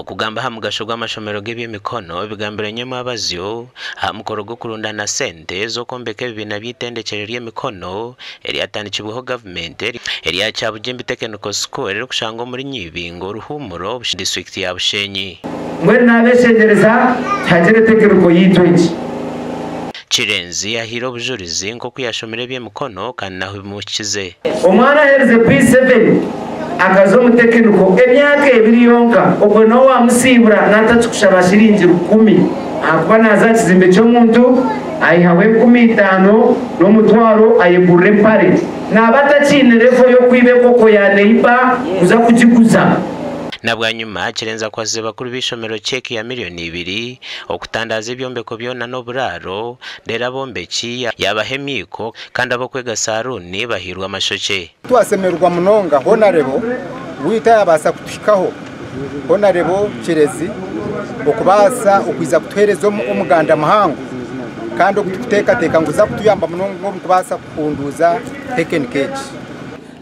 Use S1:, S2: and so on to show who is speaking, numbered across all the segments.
S1: Okugamba aha mugasho gw'amashomero g'eby'emikono bigambirwe nyomwabazyo aha mukoro gw'okurundana sente z'okwombeka ebibiina by'eitendekyero ry'emikono eryatandikibweho gavumenti erya Kyabugimbi Technical School erikushangwa omuri Nyibingo, Ruhumuro, disiturikiti ya Bushenyi.
S2: Mbwenu naabeshengyereza tihagire tekiniko yaitu egi.
S1: Kirenzi ahaire obujurizi nk'oku yashomire eby'emikono kandi n'ahu bimuhikize.
S2: Omwana aherize P7 akaza omu tekiniko emyaka ebiri yonka obwo niwe wamusiibura natakikushaba shiringi rukumi ahakuba naza aha kizimbe ky'omuntu ayihaho enkumi itaano n'omutwaro ayegurira empare naba atakiine level y'okwiba enkoko ya neighbour kuza kugiguza.
S1: Na bwanyima Kirenzi akwasize bakuru b'eishomero cheque ya miriyoni ibiri okutandaaza ebyombeko byona n'oburaaro reero abombeki yaabaha emiiko kandi ab'okwega saaruuni bahairwe amashokye.
S3: Twasemererwa munonga Honarebo waitu ayabaasa kutuhikaho, Honarebo Kirezi okubaasa okwiza kutuheereza omuganda muhango kandi ogu tukuteekateeka ngu guza kutuyamba munonga omu kubaasa kuhunduuza tekinika egi.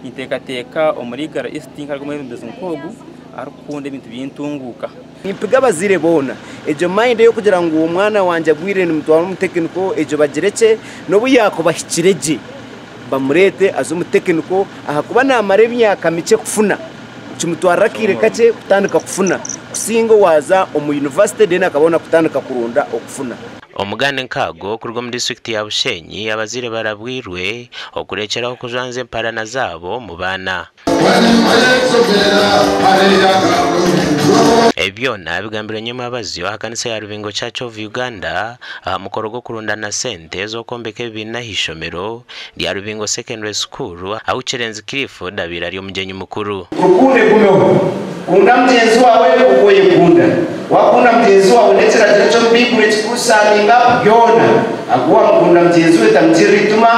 S4: Ninteekateeka omuri Igara East nkarimu omwebembezi nk'ogu arikukunda ebintu by'entunguuka.
S5: Nimpiga abazaire boona egyo mind ey'okugira ngu omwana wangye agwire nimutwara omu tekiniko egyo bagirekye n'obu yaakuba ahikire gye bamureete aze omu tekiniko ahakuba naamara emyaka mikye kufuna kimutwarira akaire kakye kutandika kufuna kusinga owaaza omu yunivasite then akabona kutandika kuronda okufuna.
S1: Omugane nk'ago kuruga omu disiturikiti ya Bushenyi, abazaire barabwirwe okurekyeraho kujwanzya emparana zaabo omu baana. Ebi byona bigambirwe nyomwabazyo aha kanisa ya Rubingo Church of Uganda aha mukoro gw'okurundana sente z'okwombeka ebibiina aha ishomero rya Rubingo Secondary School ahu Kirenzi Clifford abaire ari omugyenyi mukuru.
S5: Rukundo egumeho. Kunda mugyenzi waawe nk'oku oyekunda. Waakunda mugyenzi waawe n'ekiragiro eky'omu Baibuli ekikurusaminga byona. Ahakuba waamukunda mugyenzi we tamugirira eitima,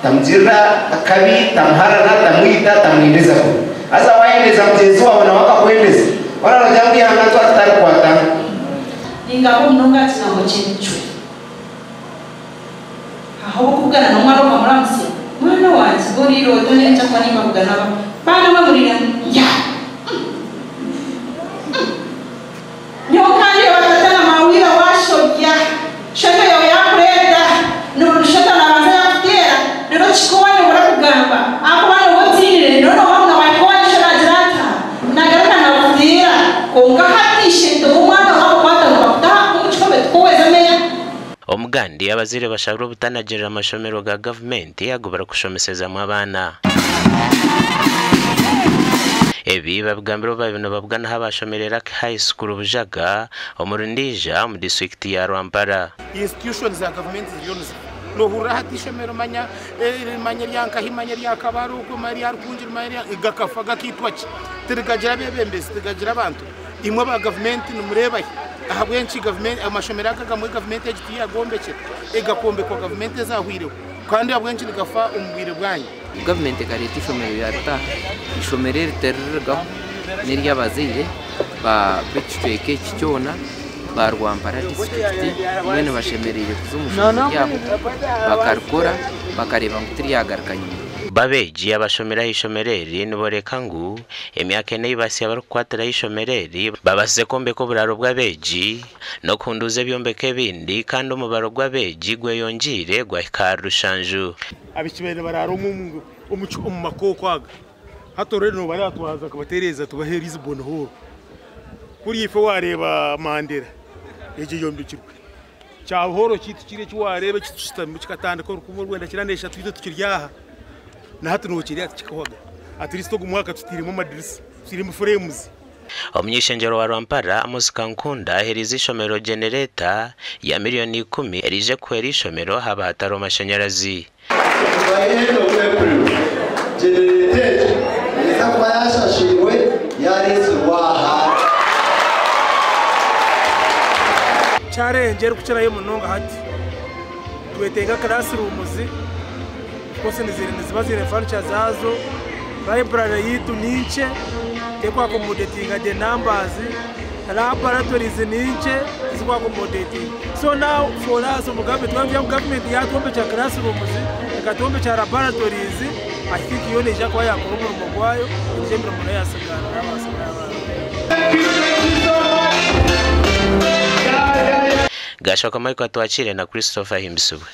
S5: tamugirira akabi, tamuharana, tamwita, tamwendeza kubi. Haza waayendeza mugyenzi waawe nawe akakwendeza. Hoona noogira ngu eihanga twaba tutarikwatana.
S6: Ningamba munonga aha kigambo ky'emicwe. Haho obukubugana n'omwana okamuramutsya, Mwana wangye, oriire ota? Nyenkya kuba nimbabugana aba baana mwe muriire ya Nyowe nkandeeba tata na maawira waashobya, shoto yaawe yaakureeta, n'obu shoto naabanza yaakuteera, reero kihika owaayobora kugamba ahakuba nooba otiinire, reero nooba ngu nawaahika owaanyu sho naagira ata, naagaruka naakuteera. Kwonka hati ishento w'omwana waamukwata nibakuta omu kihome tikoweza meya.
S1: Omugandi abazaire bashabirwe obutanagirira amashomero ga gavumenti agu barikushomesezamu abaana. Ebi babigambire obu baabaire nibabuganaho abaashomire Lucky High School Bujaga omuri Ndiija omu disiturikiti ya Rwampara.
S7: Institutions za gavumenti ziriyo nizifa. Nohurira hati ishomero manya manya erya nkahi manya erya Kabale okwe manya erya Rukungiri manya erya gakafa gakaitwa ki? Tirigagira abebembezi tirigagira abantu. Imwe aba gavumenti nimureeba hi? Ahabw'enki gavumenti amashomero aga agamwe gavumenti egi tiyagombekire egakombekwa gavumenti ezahweireho kandi ahabw'enki nigafa omu bwire bwanyu?
S8: Gavumenti ekareeta eishomero yaritaha. Eishomero eri tiriririgaho n'ery'abazaire b'ekicweka eki kyona ba Rwampara disiturikiti mbwenu bashemereire kuza omu ishomero ryabo bakarikora bakareeba ngu tiryagaruka nyima.
S1: Bo abeegi abashomire aha ishomero eri niboreka ngu Emyaka ena ei basya barikukwatiraho eishomero eri, babaasize kwombeka oburaaro bw'abeegi n'okuhunduuza ebyombeko ebindi kandi omubaro gw'abeegi gweyongyeire gwahika ahari rushanju.
S7: Abaishiki babaire nibaraara omu makooko aga, hati already nobareeba twaza kubatereeza tubahe Lisbon Hall. Kuriya ife wareeba Mandela egyo eyombekirwe. Kya hall kyaitu kiri eki wareeba eki tushutamimu kikatandika orukumi orwenda kyenda n'eshatu itwe tukiri aha. Na hati nokireeba tikikahwaga. At least ogu mwaka tutairemu amadirisa, tutairemu frames.
S1: Omuny'eishengyero wa Rwampara, Amos Kankunda aheeriize eishomero genereeta ya miriyoni ikumi eriije kuhwera eishomero haaba hatariho mashanyarazi.
S9: By end of April, genereeta egyo neeza kuba yashashirwe yareetsirwe aha.
S7: Challenge erikukirayo munonga hati nitwetenga classrooms. Of course niziba ziine furniture zaazo, library yaitu ni nkye teriku accommodatinga the numbers, laboratories ni nkye tiziku accommodatinga. So now for us omu government twaba nitugira ngu government yatwombekyera classrooms, ekatwombekyera laboratories, I think yo neija kuba yakora omurimo gwayo, egyo emirimo nayo yasigara nabaasa kuba yabaho.
S1: Gashoko Michael Atwakire na Christopher Ahimbisibwe.